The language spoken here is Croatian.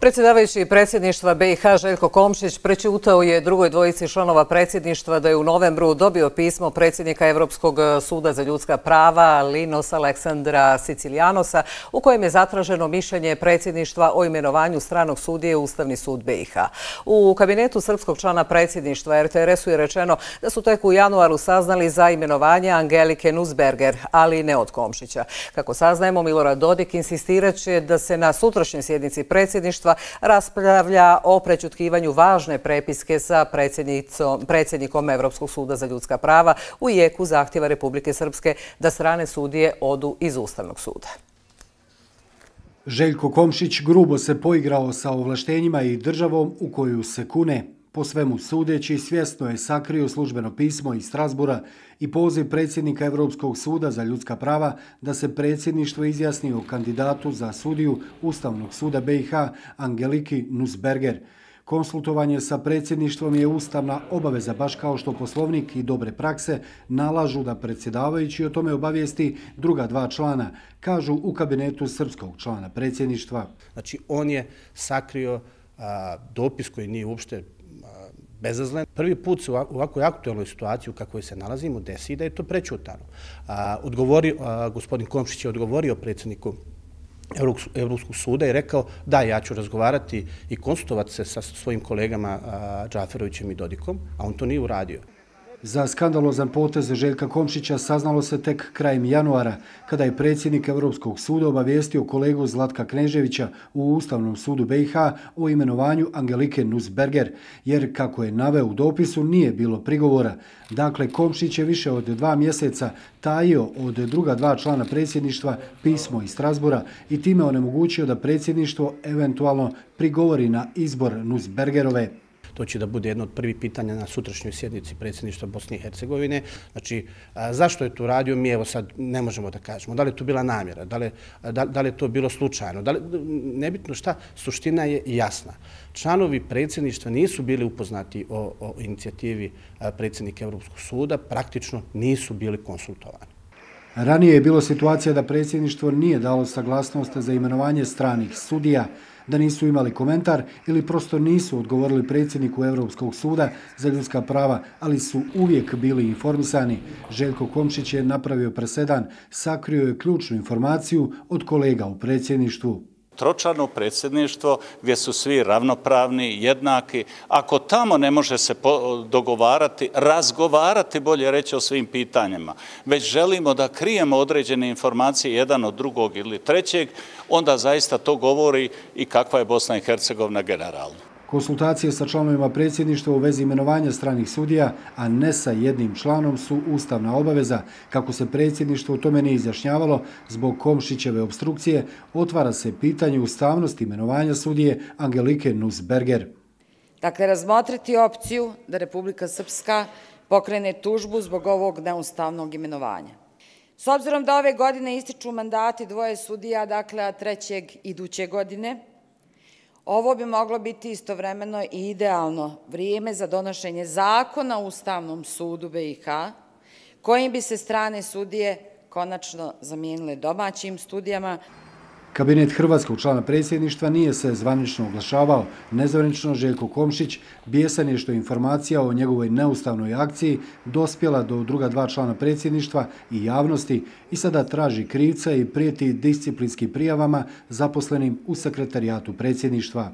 Predsjedavajući predsjedništva BiH Željko Komšić prećutao je drugoj dvojici članova predsjedništva da je u novembru dobio pismo predsjednika Europskog suda za ljudska prava Linos Aleksandra Sicilijanosa u kojem je zatraženo mišljenje predsjedništva o imenovanju stranog sudije u Ustavni sud BiH. U kabinetu srpskog člana predsjedništva RTRS-u je rečeno da su tek u januaru saznali za imenovanje Angelike Nussberger, ali ne od Komšića. Kako saznajemo, Milorad Dodik insistirat će da se na sutrašnjoj sjednici predsjedništva raspravlja o prećutkivanju važne prepiske sa predsjednikom Europskog suda za ljudska prava u jeku zahtjeva Republike Srpske da strane sudije odu iz Ustavnog suda. Željko Komšić grubo se poigrao sa ovlaštenjima i državom u koju se kune. Po svemu sudeći, svjesno je sakrio službeno pismo iz Strasbura i poziv predsjednika Europskog suda za ljudska prava da se predsjedništvo izjasni o kandidatu za sudiju Ustavnog suda BiH Angeliki Nussberger. Konsultovanje sa predsjedništvom je ustavna obaveza, baš kao što poslovnik i dobre prakse nalažu da predsjedavajući o tome obavijesti druga dva člana, kažu u kabinetu srpskog člana predsjedništva. Znači, on je sakrio dopis koji nije uopšte bezazlen. Prvi put se u ovakvoj aktualnoj situaciji u kakvoj se nalazimo desi da je to prećutano. Gospodin Komšić je odgovorio predsjedniku Europskog suda i rekao da, ja ću razgovarati i konsultovati se sa svojim kolegama Džaferovićem i Dodikom, a on to nije uradio. Za skandalozan potez Željka Komšića saznalo se tek krajem januara, kada je predsjednik Europskog suda obavijestio kolegu Zlatka Kneževića u Ustavnom sudu BiH o imenovanju Angelike Nussberger, jer, kako je naveo u dopisu, nije bilo prigovora. Dakle, Komšić je više od 2 mjeseca tajio od druga dva člana predsjedništva pismo iz Strasbura i time onemogućio da predsjedništvo eventualno prigovori na izbor Nussbergerove. To će da bude jedno od prvih pitanja na sutrašnjoj sjednici predsjedništva Bosne i Hercegovine. Znači, zašto je to radio, mi evo sad ne možemo da kažemo. Da li je to bila namjera, da li je to bilo slučajno, nebitno šta, suština je jasna. Članovi predsjedništva nisu bili upoznati o inicijativi predsjednika Europskog suda, praktično nisu bili konsultovani. Ranije je bilo situacija da predsjedništvo nije dalo saglasnost za imenovanje stranih sudija, da nisu imali komentar ili prosto nisu odgovorili predsjedniku Europskog suda za ljudska prava, ali su uvijek bili informisani. Željko Komšić je napravio presedan, sakrio je ključnu informaciju od kolega u predsjedništvu. Tročlano predsjedništvo gdje su svi ravnopravni, jednaki. Ako tamo ne može se dogovarati, razgovarati, bolje reći, o svim pitanjima, već želimo da krijemo određene informacije jedan od drugog ili trećeg, onda zaista to govori i kakva je Bosna i Hercegovina generalno. Konsultacije sa članovima predsjedništva u vezi imenovanja stranih sudija, a ne sa jednim članom, su ustavna obaveza. Kako se predsjedništvo u tome nije izjašnjavalo zbog Komšićeve opstrukcije, otvara se pitanje ustavnosti imenovanja sudije Angelike Nussberger. Dakle, razmotriti opciju da Republika Srpska pokrene tužbu zbog ovog neustavnog imenovanja. S obzirom da ove godine ističu mandati dvoje sudija, dakle, a trećeg iduće godine, ovo bi moglo biti istovremeno i idealno vrijeme za donošenje zakona o Ustavnom sudu BiH, kojim bi se strane sudije konačno zamijenile domaćim sudijama. Kabinet hrvatskog člana predsjedništva nije se zvanično oglašavao. Nezvanično Željko Komšić bijesan je što informacija o njegovoj neustavnoj akciji dospjela do druga dva člana predsjedništva i javnosti i sada traži krivca i prijeti disciplinskim prijavama zaposlenim u sekretarijatu predsjedništva.